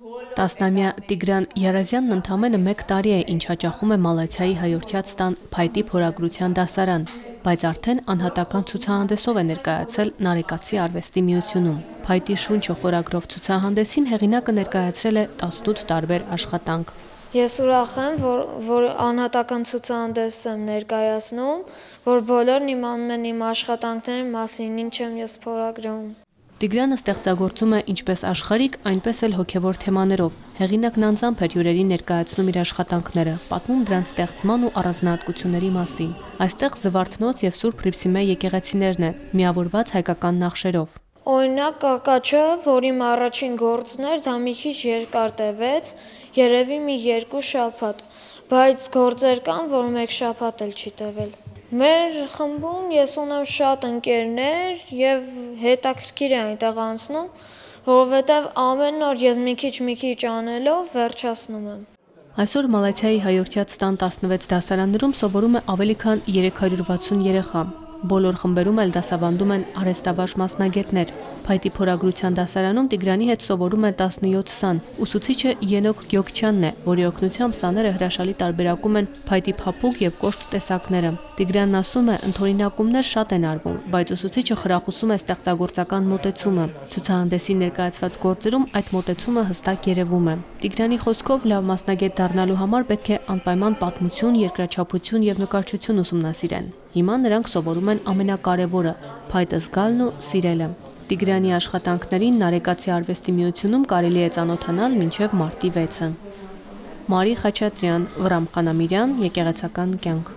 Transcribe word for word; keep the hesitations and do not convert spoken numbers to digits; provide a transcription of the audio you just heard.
Տասնամյա Տիգրան Յարազյանն ընդամենը մեկ տարի է, ինչ հաճախում է Մալաթիայի հայորդյաց տան փայտի փորագրության դասարան, բայց արդեն անհատական ցուցահանդեսով է ներկայացել Նարեկացի արվեստի միությունում։ Փայտի շունչը խորագրով ցուցահանդեսին հեղինակը ներկայացրել է տասնութ տարբեր աշխատանք։ Ես ուրախ եմ, որ, որ անհատական ցուցահանդես եմ ներկայացնում, որ բոլորն իմանում են իմ աշխատանքների մասին, ինչ եմ ես փորագրում։ Տիգրանը ստեղծագործում է ինչպես աշխարհիկ, այնպես էլ հոգևոր թեմաներով։ Հեղինակն անձամբ էր հյուրերին ներկայացնում իր աշխատանքները, պատմում դրանց ստեղծման ու առանձնահատկությունների մասին։ Այստեղ Զվարթնոց եւ Սուրբ Հռիփսիմե եկեղեցիներն են, միավորված հայկական նախշերով։ Օրինակ կակաչը, որ իմ առաջին գործն էր, դա մի քիչ երկար տևեց, երևի մի երկու շաբաթ, բայց գործեր կան, որ մեկ շաբաթ էլ չի տևել։ Մեր խմբում ես ունեմ շատ ընկերներ եւ հետաքրքիր է այնտեղ անցնում, որովհետեւ ամեն օր ես մի քիչ մի քիչ անելով վերջացնում եմ։ Այսօր Մալաթիայի հայորդյաց տան տասնվեց դասարաններում սովորում է ավելի քան երեք հարյուր վաթսուն երեխա։ Բոլոր խմբերում էլ դասավանդում են արհեստավարժ մասնագետներ։ Փայտի փորագրության դասարանում Տիգրանի հետ սովորում է տասնյոթ սան։ Ուսուցիչը Ենոք Գյոքչյանն է, որի օգնությամբ սաները հրաշալի տարբերակում են փայտի փափուկ եւ կոշտ տեսակները։ Տիգրանն ասում է, ընդօրինակումներ շատ են արվում, բայց ուսուցիչը խրախուսում է ստեղծագործական մոտեցումը։ Ցուցահանդեսի ներկայացված գործերում այդ մոտեցումը հստակ երևում է։ Տիգրանի խոսքով լավ մասնագետ դառնալու համար պետք է անպայման պատմություն, երկրաչափություն եւ նկարչություն ուսումնասիրեն։ Հիմա նրանք սովորում են ամենակարևորը՝ փայտը զգալն ու սիրելը։ Տիգրանի աշխատանքներին Նարեկացի արվեստի միությունում կարելի է ծանոթանալ մինչև մարտի վեցը։ Մարի Խաչատրյան, Վռամ Խանամիրյան, Եկեղեցական կյանք։